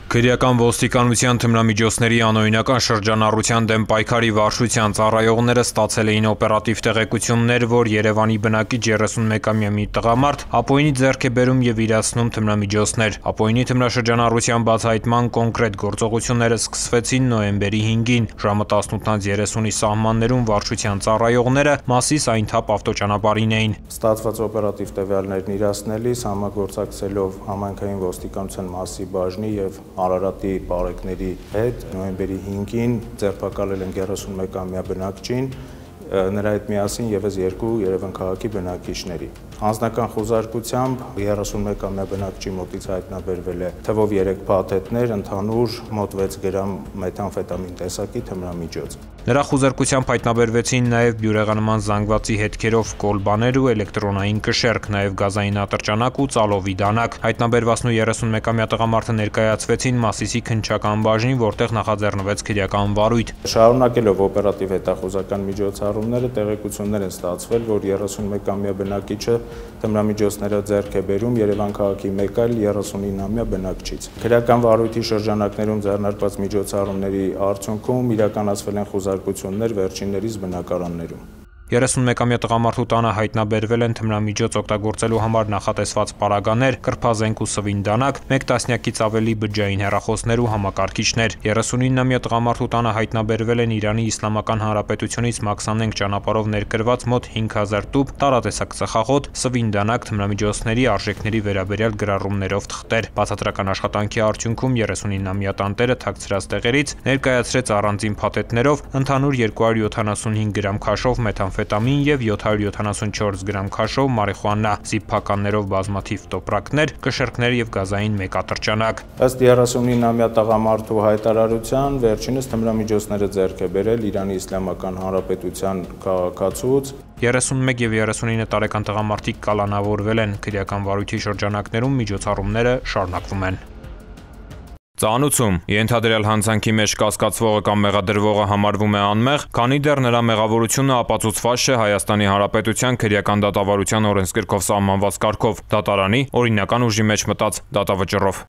Քրեական ոստիկանության թմրամիջոցների անօրինական շրջանառության դեմ պայքարի վարչության ծառայողները ստացել էին օպերատիվ տեղեկություններ, որ Երևանի բնակիչ 31-ամյա մի տղամարդ Ապօյինի ձեռք է բերում և իրացնում թմրամիջոցներ։ Ապօյինի թմրաշրջանառության բացահայտման կոնկրետ գործողությունները սկսվեցին նոյեմբերի 5-ին, ժամը 18:30-ի սահմաններում վարչության ծառայողները Մասիս Այնթապ ավտոճանապարհին էին։ Ստացված օպերատիվ տվյալներն իրացնելիս համագործակցելով համայնքային ոստիկանության Մասի բաժնի և Արարատի բարեկների հետ նոյեմբերի 5-ին ձերբակալել են 31-ամյա բնակչին, նրա հետ միասին ևս 2 Երևան քաղաքի բնակիչների։ Անձնական խուզարկությամբ 31-ամյա բնակչի մոտից հայտնաբերվել է թվով 3 փաթեթներ, ընդհանուր մոտ 6 գրամ մեթամֆետամին տեսակի թմրամիջոց։ Նրա խուզարկությամբ հայտնաբերվեցին նաև բյուրեղանման զանգվածի հետքերով կոլբաներ ու էլեկտրոնային կշեռք, նաև գազային ատրճանակ ու ծալովի դանակ։ Հայտնաբերվածն ու 31-ամյա տղամարդը ներկայացվեցին Մասիսի քննչական բաժնին, որտեղ նախաձեռնվեց քրեական վարույթ։ Շարունակելով օպերատիվ հետախուզական միջոցառումները, տեղեկություններ են ստացվել, որ 31-ամյա բնակիչը թմրամիջոցները ձեռք է բերում Երևան քաղաքի մեկ այլ 39-ամյա բնակչից։ Քրեական վարույթի շրջանակներում ձեռնարկված միջոցառումների արդյունքում իրականացվել են խուզարկություններ վերջիններիս բնակարաններում։ 31-ամյա տղամարդու տանը հայտնաբերվել են թմրամիջոց օգտագործելու համար նախատեսված պարագաներ, կրբազենք ու սվին դանակ, 1 տասնյակից ավելի բջջային հեռախոսներ ու համակարգիչներ։ 39-ամյա տղամարդու տանը հայտնաբերվել են Իրանի Իսլամական Հանրապետությունից Մաքսանենգ ճանապարհով ներկրված մոտ 5000 տուփ տարատեսակ ծխախոտ, սվին դանակ, թմրամիջոցների արժեքների վերաբերյալ գրառումներով թղթեր։ Բացատրական աշխատանքի արդյունքում 39-ամյա տանտերը թաքցրած տեղերից ներկայացրեց առանձին փաթեթներով ընդհանուր 275 գրամ քաշով մեթամֆետամին և 774 գրամ քաշով մարիխուանա, զիփփականներով բազմաթիվ տոպրակներ, կշեռքներ և գազային մեկ ատրճանակ։ Ըստ 39-ամյա տղամարդու հայտարարության, վերջինս թմրամիջոցները ձեռք է բերել Իրանի Իսլամական Հանրապետության քաղաքացուց։ 31 և 39 տարեկան տղամարդիկ կալանավորվել են։ Քրեական վարույթի շրջանակներում միջոցառումները շարունակվում են։ Ծանուցում ենթադրյալ հանցանքի մեջ կասկածվողը կամ մեղադրվողը համարվում է անմեղ, քանի դեռ նրա մեղավորությունը ապացուցված չէ Հայաստանի Հանրապետության քրեական դատավարության օրենսգրքով սահմանված կարգով, դատարանի օրինական ուժի մեջ մտած դատավճռով։